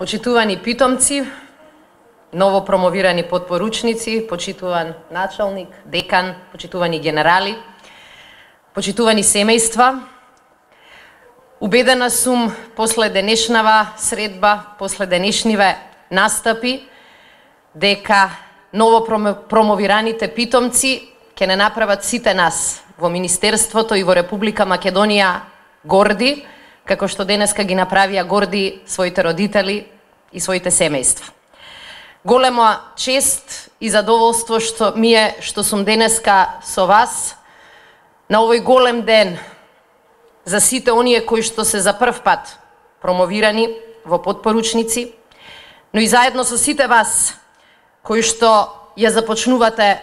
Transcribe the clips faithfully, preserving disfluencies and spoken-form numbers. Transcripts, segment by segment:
Почитувани питомци, ново промовирани подпоручници, почитуван началник, декан, почитувани генерали, почитувани семејства, убедена сум после денешнава средба, после денешниве настапи, дека ново промовираните питомци ќе не направат сите нас во Министерството и во Република Македонија горди, како што денеска ги направија горди своите родители и своите семејства. Голема чест и задоволство што ми е што сум денеска со вас на овој голем ден за сите оние кои што се за прв пат промовирани во подпоручници, но и заедно со сите вас кои што ја започнувате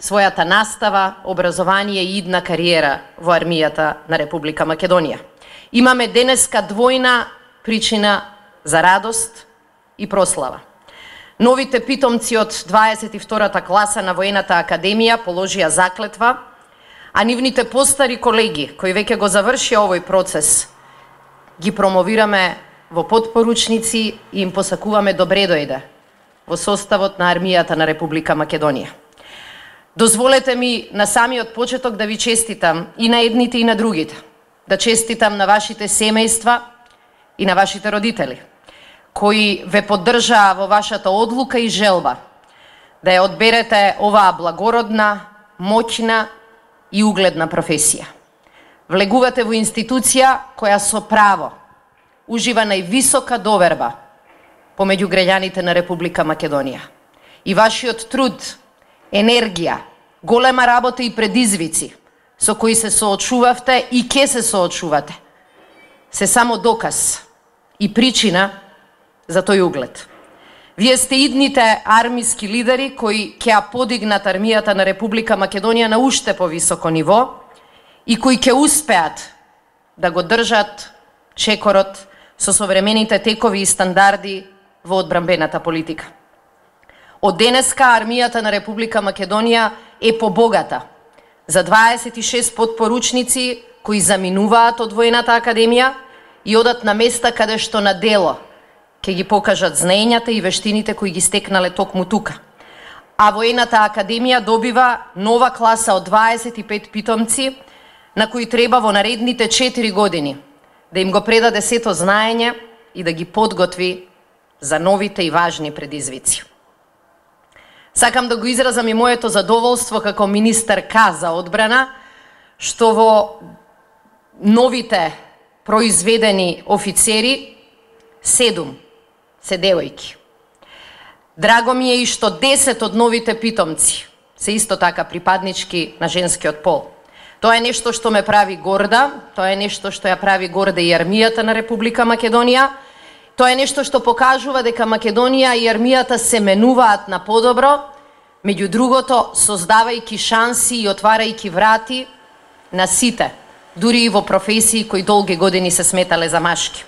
својата настава, образование и идна кариера во армијата на Република Македонија. Имаме денеска двојна причина за радост и прослава. Новите питомци од дваесет и втората класа на Воената академија положија заклетва, а нивните постари колеги кои веќе го завршија овој процес ги промовираме во подпоручници и им посакуваме добре дојде во составот на армијата на Република Македонија. Дозволете ми на самиот почеток да ви честитам и на едните и на другите. Да честитам на вашите семејства и на вашите родители, кои ве поддржаа во вашата одлука и желба да ја одберете оваа благородна, моќна и угледна професија. Влегувате во институција која со право ужива највисока доверба помеѓу граѓаните на Република Македонија. И вашиот труд, енергија, голема работа и предизвици со кои се соочувавте и ке се соочувате, се само доказ и причина за тој углед. Вие сте идните армиски лидери кои ќе ја подигнат армијата на Република Македонија на уште повисоко ниво и кои ќе успеат да го држат чекорот со современите текови и стандарди во одбранбената политика. Од денеска армијата на Република Македонија е побогата за дваесет и шест подпоручници кои заминуваат од Воената академија и одат на места каде што на дело ќе ги покажат знаењата и вештините кои ги стекнале токму тука. А Воената академија добива нова класа од дваесет и пет питомци на кои треба во наредните четири години да им го предаде сето знаење и да ги подготви за новите и важни предизвици. Сакам да го изразам и моето задоволство како министерка за одбрана, што во новите произведени офицери седум се девојки. Драго ми е и што десет од новите питомци се исто така припаднички на женскиот пол. Тоа е нешто што ме прави горда, тоа е нешто што ја прави горда и армијата на Република Македонија. Тоа е нешто што покажува дека Македонија и армијата се менуваат на подобро, меѓу другото создавајќи шанси и отварајќи врати на сите, дури и во професии кои долги години се сметале за машки.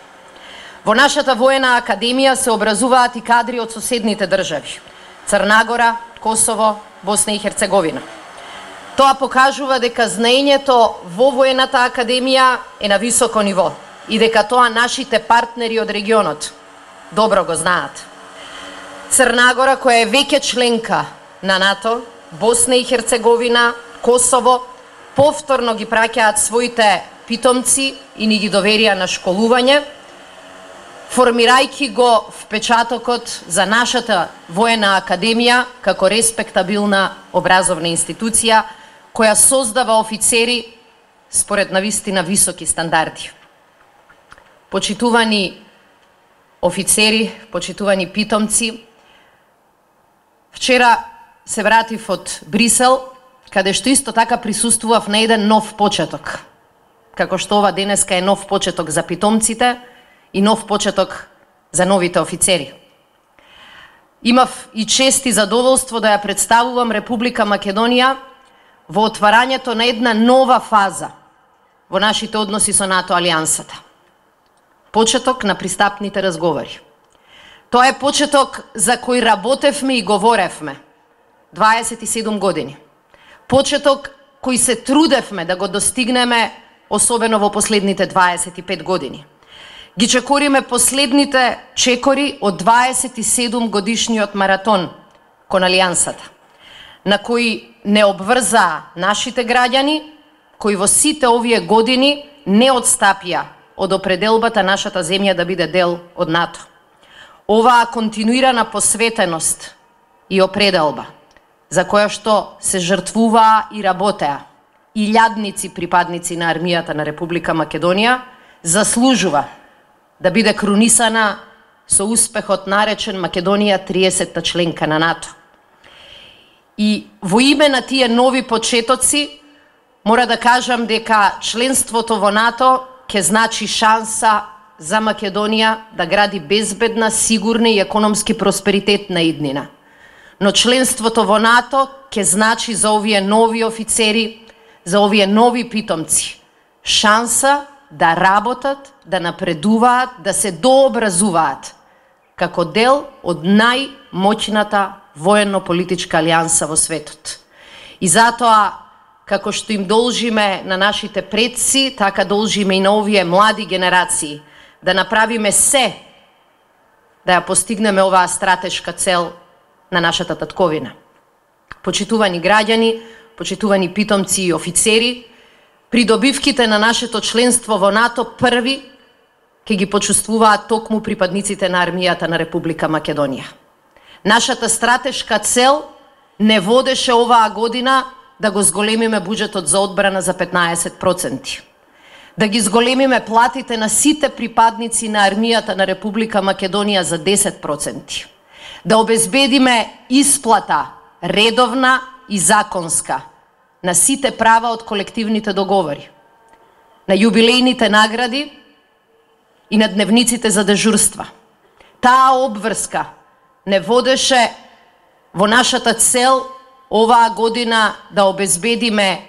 Во нашата воена академија се образуваат и кадри од соседните држави: Црна Гора, Косово, Босна и Херцеговина. Тоа покажува дека знаењето во Воената академија е на високо ниво и дека тоа нашите партнери од регионот добро го знаат. Црна Гора, која е веќе членка на НАТО, Босна и Херцеговина, Косово, повторно ги праќаат своите питомци и ни ги доверија на школување, формирајќи го впечатокот за нашата воена академија како респектабилна образовна институција која создава офицери според навистина високи стандарди. Почитувани офицери, почитувани питомци, вчера се вратив од Брисел, каде што исто така присуствував на еден нов почеток. Како што ова денеска е нов почеток за питомците и нов почеток за новите офицери. Имав и чест и задоволство да ја представувам Република Македонија во отварањето на една нова фаза во нашите односи со НАТО алијансата. Почеток на пристапните разговори. Тоа е почеток за кој работевме и говоревме дваесет и седум години. Почеток кој се трудевме да го достигнеме, особено во последните дваесет и пет години. Ги чекориме последните чекори од дваесет и седум годишниот маратон кон Алијансата, на кои не обврзаа нашите граѓани, кои во сите овие години не отстапија од определбата нашата земја да биде дел од НАТО. Оваа континуирана посветеност и определба, за која што се жртвуваа и работеа илјадници припадници на армијата на Република Македонија, заслужува да биде крунисана со успехот наречен Македонија триесетта членка на НАТО. И во име на тие нови почетоци, мора да кажам дека членството во НАТО ќе значи шанса за Македонија да гради безбедна, сигурна и економски просперитетна иднина. Но членството во НАТО ќе значи за овие нови офицери, за овие нови питомци, шанса да работат, да напредуваат, да се дообразуваат како дел од најмоќната военно-политичка алијанса во светот. И затоа, како што им должиме на нашите предци, така должиме и на овие млади генерации да направиме се да ја постигнеме оваа стратешка цел на нашата татковина. Почитувани граѓани, почитувани питомци и офицери, придобивките на нашето членство во НАТО први ќе ги почувствуваат токму припадниците на армијата на Република Македонија. Нашата стратешка цел не водеше оваа година да го зголемиме буџетот за одбрана за петнаесет проценти. Да ги зголемиме платите на сите припадници на армијата на Република Македонија за десет проценти. Да обезбедиме исплата редовна и законска на сите права од колективните договори, на јубилејните награди и на дневниците за дежурства. Таа обврска не водеше во нашата цел оваа година да обезбедиме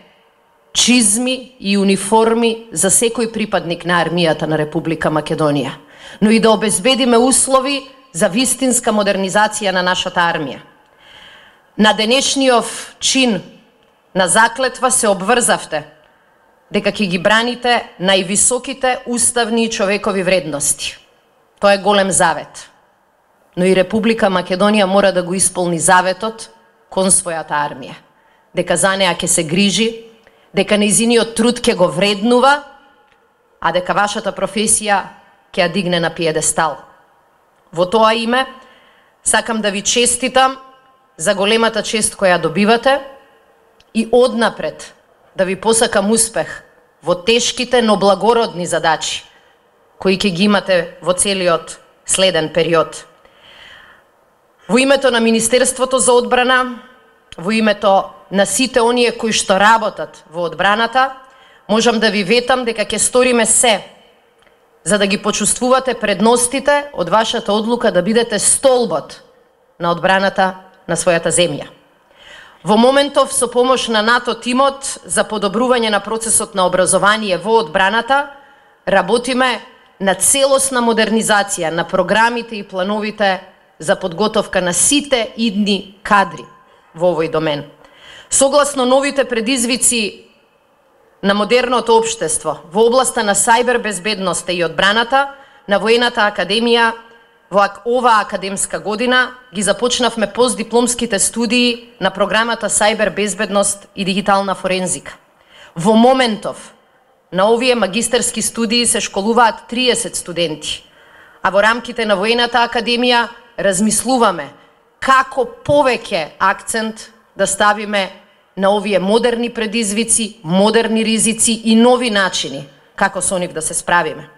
чизми и униформи за секој припадник на армијата на Република Македонија, но и да обезбедиме услови за вистинска модернизација на нашата армија. На денешниот чин на заклетва се обврзавте дека ќе ги браните највисоките уставни и човекови вредности. Тоа е голем завет. Но и Република Македонија мора да го исполни заветот кон својата армија. Дека за неа ќе се грижи, дека нејзиниот труд ќе го вреднува, а дека вашата професија ќе ја дигне на пиедестал. Во тоа име, сакам да ви честитам за големата чест која добивате и однапред да ви посакам успех во тешките, но благородни задачи кои ќе ги имате во целиот следен период. Во името на Министерството за одбрана, во името на сите оние кои што работат во одбраната, можам да ви ветам дека ќе сториме се за да ги почувствувате предностите од вашата одлука да бидете столбот на одбраната на својата земја. Во моментов, со помош на НАТО тимот за подобрување на процесот на образование во одбраната, работиме на целосна модернизација на програмите и плановите за подготовка на сите идни кадри во овој домен. Согласно новите предизвици на модерното општество во областа на сајбер безбедноста и одбраната, на Воената академија во оваа академска година ги започнавме постдипломските студии на програмата Сајбер безбедност и дигитална форензика. Во моментов на овие магистерски студии се школуваат триесет студенти, а во рамките на Воената академија размислуваме како повеќе акцент да ставиме на овие модерни предизвици, модерни ризици и нови начини како со нив да се справиме.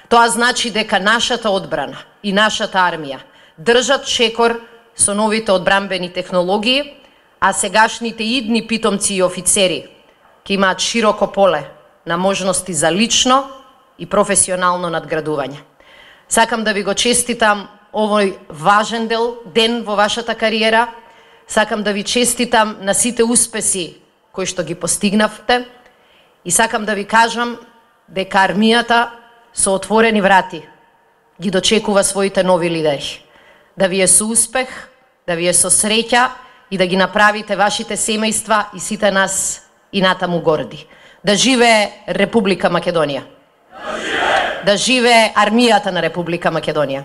Тоа значи дека нашата одбрана и нашата армија држат чекор со новите одбранбени технологии, а сегашните идни питомци и офицери ќе имаат широко поле на можности за лично и професионално надградување. Сакам да ви го честитам овој важен дел, ден во вашата кариера. Сакам да ви честитам на сите успеси кои што ги постигнавте и сакам да ви кажам дека армијата со отворени врати ги дочекува своите нови лидери. Да ви е со успех, да ви е со среќа и да ги направите вашите семејства и сите нас и натаму горди. Да живее Република Македонија! Да живее! Да живее армијата на Република Македонија.